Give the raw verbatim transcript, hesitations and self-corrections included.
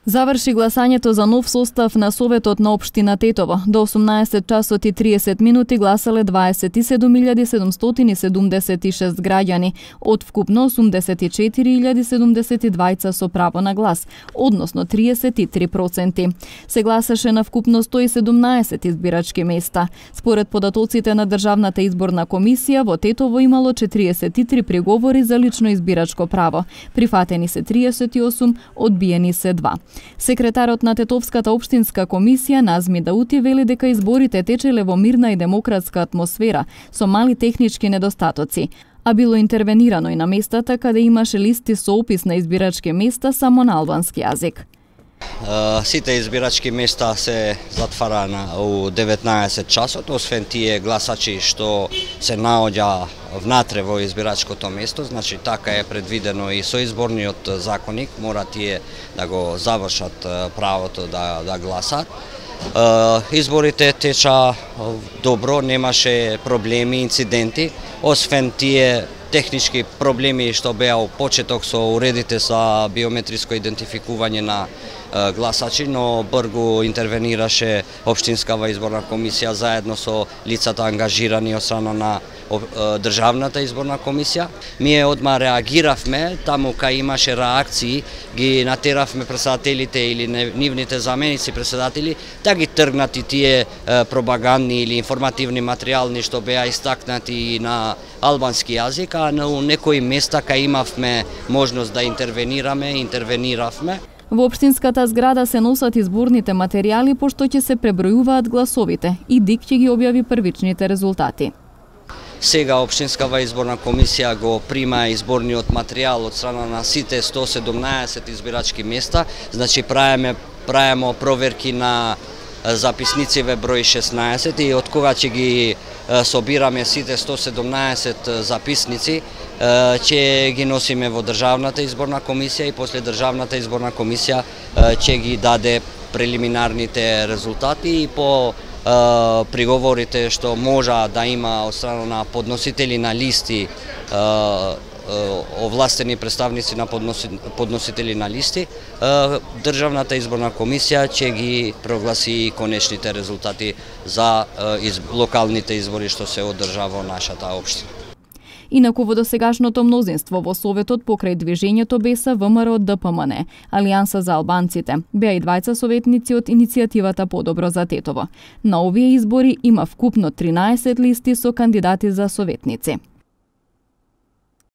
Заврши гласањето за нов состав на Советот на општина Тетово. До осумнаесет часот и триесет минути гласале дваесет и седум илјади седумстотини седумдесет и шест граѓани, од вкупно осумдесет и четири илјади седумдесет и двајца со право на глас, односно триесет и три проценти. Се гласаше на вкупно сто и седумнаесет избирачки места. Според податоците на Државната изборна комисија, во Тетово имало четириесет и три приговори за лично избирачко право. Прифатени се триесет и осум, одбиени се два. Секретарот на Тетовската општинска комисија Назми Даути вели дека изборите течеле во мирна и демократска атмосфера со мали технички недостатоци, а било интервенирано и на местата каде имаше листи со опис на избирачки места само на албански јазик. Сите избирачки места се затварана у деветнаесет часот, освен тие гласачи што се наоѓа внатре во избирачкото место, значи така е предвидено и со изборниот законник, мора тие да го завршат правото да, да гласат. Изборите теча добро, немаше проблеми, инциденти, освен тие технички проблеми што беа у почеток со уредите за биометриско идентификување на гласачи, но брзо интервенираше општинскава изборна комисија заедно со лицата ангажирани од страна на Државната изборна комисија. Ние одма реагиравме, таму кај имаше реакции, ги натеравме председателите или нивните заменици председатели да ги тргнат и тие пропагандни или информативни материјални што беа истакнати на албански јазик, а на некои места кај имавме можност да интервенираме, интервениравме. Во општинската зграда се носат изборните материјали пошто ќе се пребројуваат гласовите и ДИК ќе ги објави првичните резултати. Сега општинскава изборна комисија го прима изборниот материјал од страна на сите сто седумнаесет избирачки места, значи правиме правиме проверки на записнициве број шеснаесет и од кога ќе ги собираме сите сто седумнаесет записници, ќе ги носиме во Државната изборна комисија и после Државната изборна комисија ќе ги даде прелиминарните резултати и по приговорите што можа да има од страна на подносители на листи, овластени представници на подносители на листи, Државната изборна комисија ќе ги прогласи конечните резултати за локалните избори што се одржава во нашата општина. Инаку во досегашното мнозинство во Советот покрај движењето БЕСА, ВМРО, ДПМН, Алијанса за албанците, беа и двајца советници од иницијативата Подобро за Тетово. На овие избори има вкупно тринаесет листи со кандидати за советници.